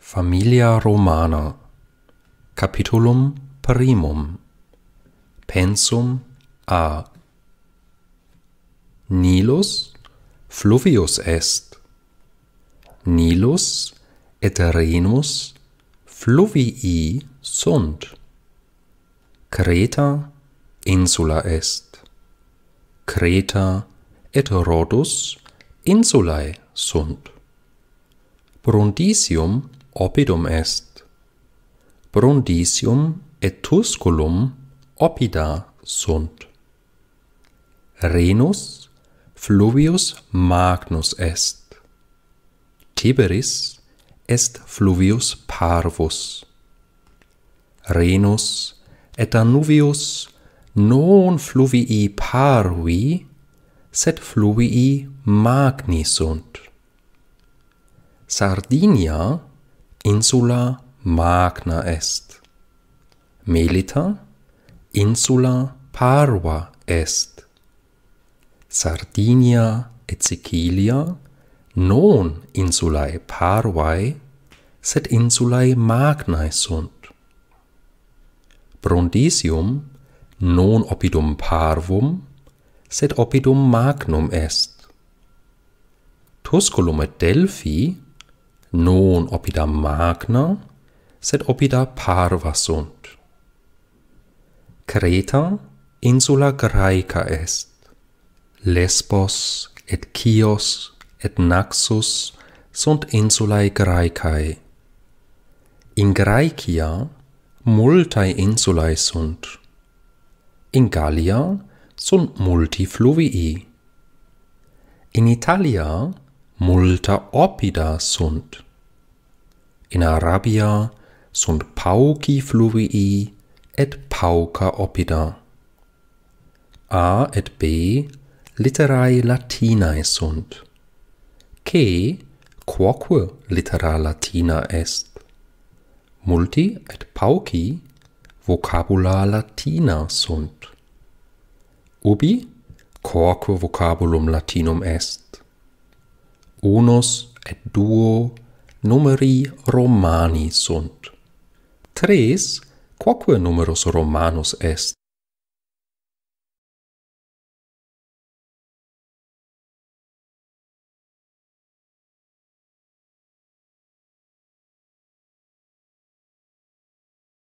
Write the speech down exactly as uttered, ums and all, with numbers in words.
Familia Romana. Capitulum primum. Pensum A. Nilus fluvius est. Nilus et Rhenus fluvii sunt. Creta insula est. Creta et Rhodus insulae sunt. Brundisium oppidum est. Brundisium et Tusculum oppida sunt. Rhenus fluvius magnus est. Tiberis est fluvius parvus. Rhenus et Danuvius non fluvii parvi, sed fluvii magni sunt. Sardinia insula magna est. Melita insula parva est. Sardinia et Sicilia non insulae parvae, sed insulae magnae sunt. Brundisium non oppidum parvum, sed oppidum magnum est. Tusculum et Delphi non oppida magna, sed oppida parva sunt. Creta insula Graeca est. Lesbos et Chios et Naxos sunt insulae Graecae. In Graecia multae insulae sunt. In Gallia sunt multi fluvii. In Italia multa oppida sunt. In Arabia sunt pauci fluvii et pauca oppida. A et B litterae Latinae sunt. C quoque littera Latina est. Multi et pauci vocabula Latina sunt. Ubi quoque vocabulum Latinum est. Unus et duo numeri Romani sunt. Tres quoque numerus Romanus est.